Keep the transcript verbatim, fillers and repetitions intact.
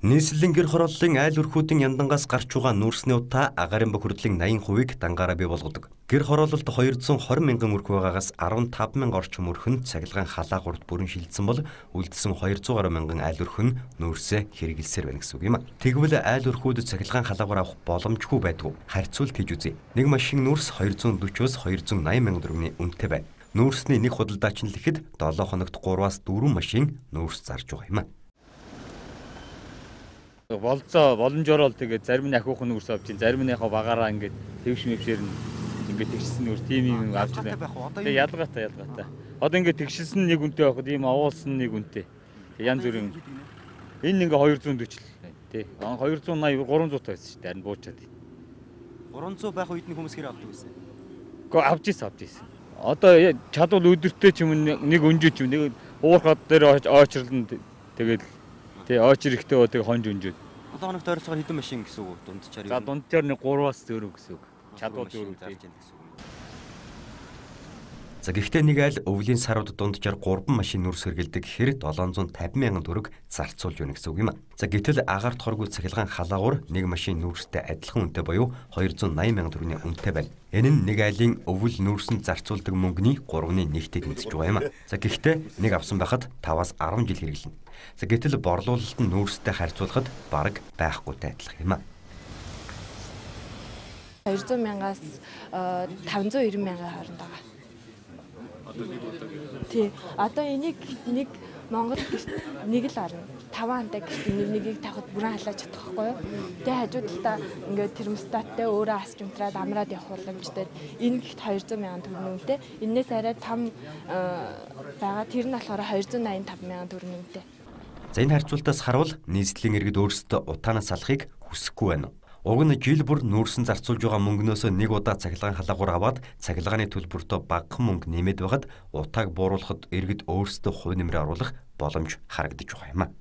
Нийслэлийн гэр хорооллын айл өрхүүдийн яндангаас гарч байгаа нүүрсний утаа агаарын бохирдлын восемь хувийг дангаараа бий болгодог. Гэр хороололд two hundred fifty мянган өрх байгаагаас fifteen мянган орчим өрх нь цахилгаан халаагуурт бүрэн шилжсэн бол үлдсэн two hundred мянган айл өрх нь нүүрсээ хэрэгэлсээр байна гэсэн үг юм. Тэгвэл айл өрхүүд цахилгаан халаагуур авах боломжгүй байдгүй. Харьцуулт хийж үзье. Нэг машин нүүрс two hundred forty-оос two hundred eighty мянган төгрөгийн үнэтэй байна. Нүүрсний нэг худалдаач нь л ихэд seven хоногт three-аас four машин нүүрс зарж байгаа юм. Болцоо боломжоор л тэгээд зарим нь ахиух нүүрс авч, зарим нь яхаа багаараа ингээд твш мэвшээр нь ингээд тэгшсэн нүүрс тийм юм авч байна. Тэгээд ялгаатай ялгаатай. Одоо ингээд тэгшсэн нэг үнэтэй байхад ийм овуулсан нэг үнэтэй. Тэг янз бүрийн энэ ингээ two forty л тий. two eighty three hundred байсан шүү дээ. Харин буучаад. three hundred байх үед нь хүмүүс хэр авдаг байсан? Гэхдээ авч ийс авч ийс. Одоо чадвал өдөртөө ч юм нэг өнжөөч юм нэг уурхад дээр очрлон тэгээд тий очир ихтэй өдөг хонж өнжөөд. seven хоногт ойролцоогоор хэдэн машин гэсэн үг дунджаар юу? За дунджаар нэг three-аас зөөрөө гэсэн үг. Чадвал зөөрөө зарж яах гэсэн үг. За гэхдээ нэг айл өвлийн сарууд дунджаар three машин нүүрс хэргэлдэг гэхээр seven hundred fifty мянган төгрөг зарцуулж байна гэсэн үг юм а. За гэтэл агаарт хоргүй цахилгаан халаагуур нэг машин нүүрстэй адилхан үнэтэй буюу two hundred ninety мянган төгрөгийн үнэтэй байна. Энэ нь нэг айлын өвөл нүүрсэнд зарцуулдаг мөнгөний three-ны нэгтэйг үнэлж байгаа юм а. За гэхдээ нэг авсан байхад five-аас ten жил хэрэглэнэ. За гэтэл борлуулалт нь нүүрстэй харьцуулахад бараг байхгүйтэй адилхан юм а. two hundred мянгаас five hundred ninety мянган хооронд байгаа. Тий. Одоо энийг нэг Монгол нэг л орно. Таван хантай гэрт нэгийг тавхад бүрэн халааж чадах байхгүй юу? Тэгээ хажууд талаа ингээд термостаттай өөрөө асч унтраад амраад явах боломжтой. Энэ гихт two hundred мянган төгрөгийн үнэтэй. Энээс арай том байгаа. Тэр нь болохоор two hundred ninety-five мянган төгрөгийн үнэтэй. За энэ харьцуултаас харуул нийслэлийн иргэд өөрсдөө утаанаас салахыг хүсэхгүй байна. Уг нь жил бүр нүүрсэн зарцуулж байгаа мөнгнөөс нэг удаа цахилгаан халаагуур аваад цахилгааны төлбөртөө багахан мөнгө нэмээд байхад утааг бууруулахад иргэд өөрсдөө хувь нэмрээ оруулах боломж харагдаж байгаа юм а.